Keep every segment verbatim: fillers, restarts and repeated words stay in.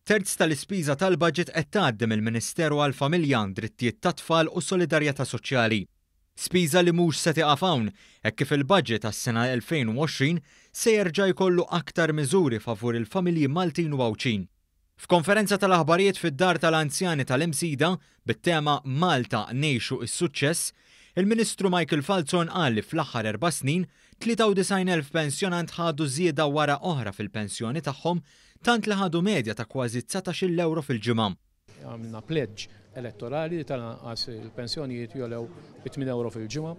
Terz tal-ispiża tal-budget qed tgħaddi mill-Ministeru għall-Familja, Drittijiet tat-Tfal u Solidarjetà Soċjali. Spiża li mhux se tieqaf hawn, hekk kif il-budget għas-sena elfejn u għoxrin se jerġa' jkollu aktar miżuri favur il-familji Maltin u Għawdxin. F'konferenza tal-aħbarijiet fid-Dar tal-Anzjani tal-Imsida bit-tema "Malta Ngħixu is-Suċċess", il-Ministru Michael Falzon qal li fl-aħħar erba' snin tlieta u disgħin elf pensjonant ħadu żieda wara oħra fil-pensjoni tagħhom, tant li ħadu medja ta' kważi dsatax-il euro fil-ġimgħa. Għamilna pledge elettorali li tal-anqas il-pensjonijiet jogħlew bi tmien euro fil-ġimgħa.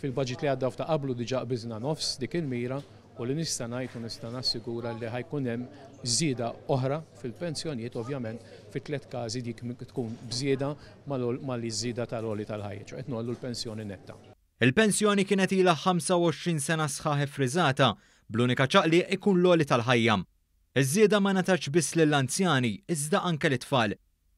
Fil-budget li għadda ta' qablu diġà qbiżna nofs dik il-mira u li nista' ngħid u nista' nassigura li ħa jkun hemm żieda oħra fil-pensjonijiet, ovvjament fi tliet każi dik tkun bżieda mal-żieda tal-għoli tal-ħajja, qed ngħollu l-pensjoni netta. Il-pensjoni kienet ilha ħamsa u għoxrin sena sħaħ friżata, bl-unika ċaqli ikun l-għoli tal-ħajja. Iż-żieda ma ngħatatx biss lill-anzjani, iżda anke lit-tfal.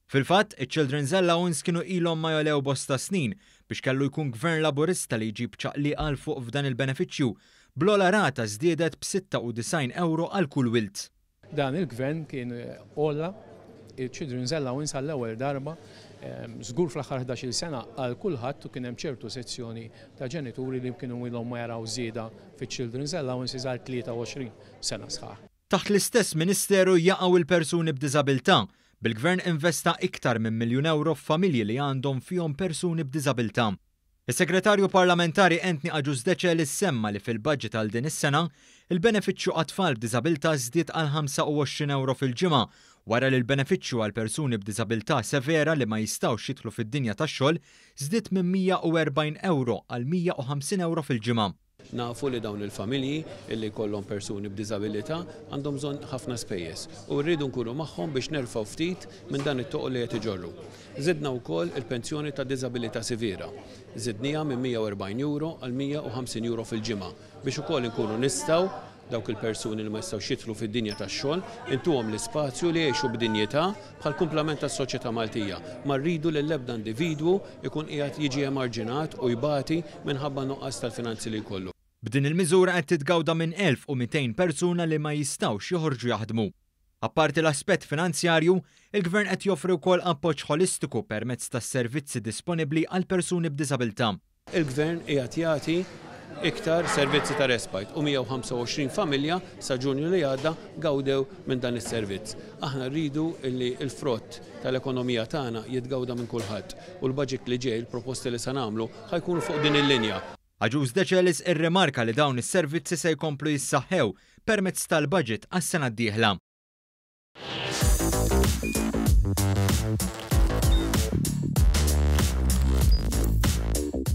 Fil-fatt, iċ-Children's Allowance kienu ilhom ma jogħlew bosta snin biex kellu jkun gvern Laburista li jġib ċaqli għal fuq f'dan il-benefiċċju, bl-ogħla rata żdiedet b'sitta u disgħin euro għal kull wild. Dan il-gvern kien għolla il-Children's Allowance għall-ewwel darba żgur fl-aħħar ħdax-il sena għal kulħadd u kien hemm ċertu sezzjoni ta' ġenituri li kienu ilhom ma jaraw żieda fiċ-Children's Allowance għal tlieta u għoxrin sena sħaħ. Taħt l-istess ministeru jaqgħu il-persuni b'diżabilità, bil-gvern investa iktar minn miljun euro f'familji li għandhom fihom persuni b'diżabilità. Is-segretarju parlamentari Anthony Agius Decelis semma li fil-budget għal din is-sena il-benefiċċju għat-tfal b'diżabilità żdied għal ħamsa u għoxrin euro fil-ġimgħa, wara li l-benefiċċju għal persuni b'diżabilità severa li ma jistgħux jidħlu fid-dinja tax-xogħol żdied minn mija u erbgħin euro għal mija u ħamsin euro fil-ġimgħa. Nafu li dawn il-familji illi kollhom persuni b'diżabilità għandhom bżonn ħafna spejjeż u rridu nkunu magħhom biex nerfgħu ftit minn dan it-toqol li qed iġorru. Żidna wkoll il-pensjoni ta' diżabilità severa. Żidniha minn mija u erbgħin euro għal mija u ħamsin euro fil-ġimgħa biex ukoll inkunu nistgħu dawk il-persuni li ma jistgħux jidħlu fid-dinja tax-xogħol intuhom l-ispazju li jgħixu b'dinjità bħal kumplament tas-soċjetà Maltija. Ma rridu li l-ebda individwu ikun qiegħed jiġi emarġinat u jbati minħabba nuqqas tal-finanzi li jkollu. B'din il-miżura qed titgawda minn elf u mitejn persuna li ma jistgħux joħorġu jaħdmu. Apparti l-aspett finanzjarju, il-gvern qed joffri wkoll appoġġ ħolistiku permezz tas-servizzi disponibbli għal persuni b'diżabilità. Il-gvern qiegħed jagħti iktar servizzi ta' respite u mija u ħamsa u għoxrin familja sa Ġunju li għadda gawdew minn dan is-servizz. Aħna rridu li l-frott tal-ekonomija tagħna jitgawda minn kulħadd u l-budget li ġej, il-proposti li se nagħmlu ħa jkunu fuq din il-linja. Agius Decelis irrimarka li dawn is-servizzi se jkomplu jissaħħew permezz tal-budget għas-sena d-dieħla.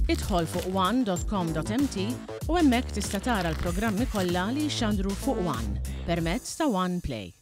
Idħol fuq one dot com dot M T u hemmhekk tista' tara l-programmi kollha li jxandru fuq One permezz ta' One Play.